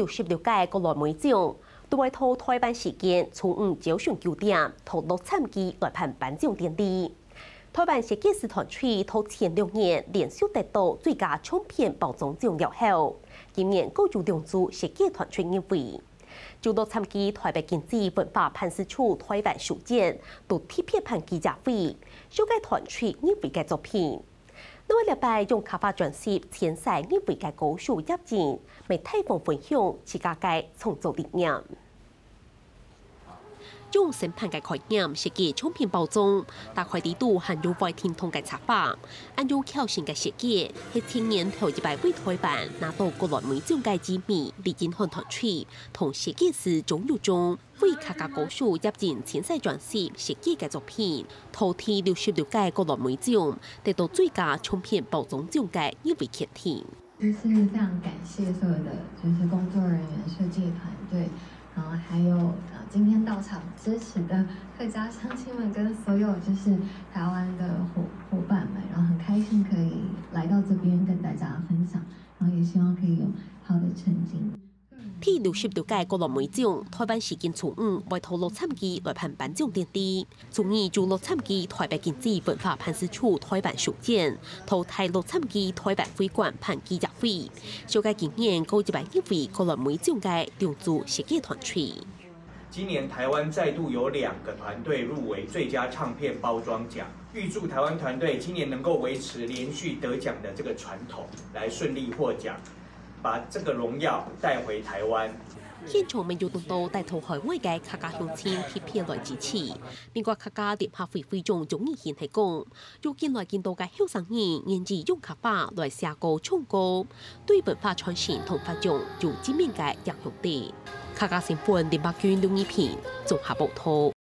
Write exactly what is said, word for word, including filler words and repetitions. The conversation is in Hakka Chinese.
六十六屆國內每獎，都會在台灣時間中午朝晨九點，在洛杉磯來辦頒獎典禮。台灣設計師團隊在前兩年連續得到最佳唱片包裝獎了後，今年閣有兩組設計團隊入圍。就洛杉磯台北經濟文化辦事處台灣書展，都特別辦記者會，紹介團隊入圍个作品。另外這擺用客話專輯遷徙入圍个歌手葉蒨，乜大方分享自家个創作理念。用新版个概念設計唱片包裝，打開裡肚還有會叮噹个插畫，恁樣巧心个設計，係今年頭一擺為台灣拿到國內每獎个知名李金漢團隊同設計師鍾友忠，為客家歌手葉蒨遷徙專輯設計个作品，在第六十六屆國內每獎得到最佳唱片包裝獎个入圍肯定。 就是非常感謝所有的就是工作人员、设计团队，然后还有呃今天到场支持的客家乡亲们，跟所有就是台湾的伙伙伴们，然后很开心可以来到这边跟大家分享，然后也希望可以有好的成绩。 第六十六屆國內每獎，台灣時間中午會在洛杉磯來辦頒獎典禮。中午就洛杉磯台北經濟文化辦事處台灣書展，在大洛杉磯台灣會館辦記者會，紹介今年過一百入圍國內每獎个兩組設計團隊。今年台灣再度有兩个團队入围最佳唱片包装奖，预祝台湾团队今年能够维持连续得奖的这个传统，来顺利获奖，把这个荣耀带回台湾。 現場乜有當多戴在海外个客家鄉親特別來支持。美國客家聯合會會長鍾義賢係講，有近來更多个後生人願意用客話來寫歌唱歌，對文化傳承同發揚有正面个影響力。客家新聞林百君、劉義平綜合報導。